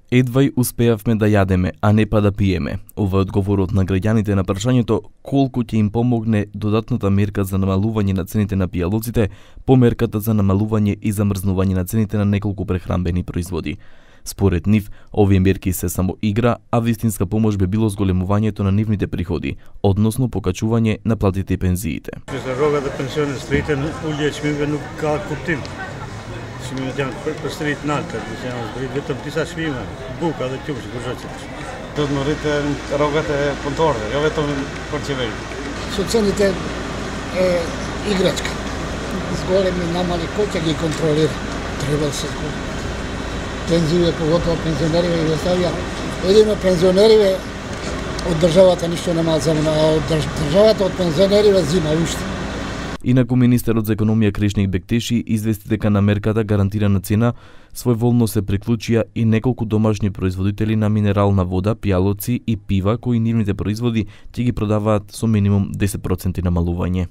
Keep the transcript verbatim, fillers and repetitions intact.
Едвај успеавме да јадеме, а не па да пиеме. Ова е одговорот на граѓаните на прашањето колку ќе им помогне додатната мерка за намалување на цените на пијалоците по мерката за намалување и замрзнување на цените на неколку прехранбени производи. Според нив, овие мерки се само игра, а вистинска помош би било зголемувањето на нивните приходи, односно покачување на платите и пензиите. Rrogat e pensionistë ulja e çmimeve nuk ka kuptim. Çmimet janë përsërit të larta, janë zbrit vetëm disa çmime, buka dhe qumshi për çfarë. Do të rriten rrogat e punëtorëve, jo vetëm për qeveri. Su цените е играчка. Зголеми намали кој ќе ги контролира. Треба да се зголеми. Пензиите, поготово пензионерите ги оставија. Едино пензионерите од државата ништо нема земено, а од државата од пензионерите зима уште. Инаку министерот за економија Кришник Бектеши извести дека на мерката гарантирана цена своеволно се приклучија и неколку домашни производители на минерална вода, пијалоци и пива кои нивните производи ќе ги продаваат со минимум десет проценти намалување.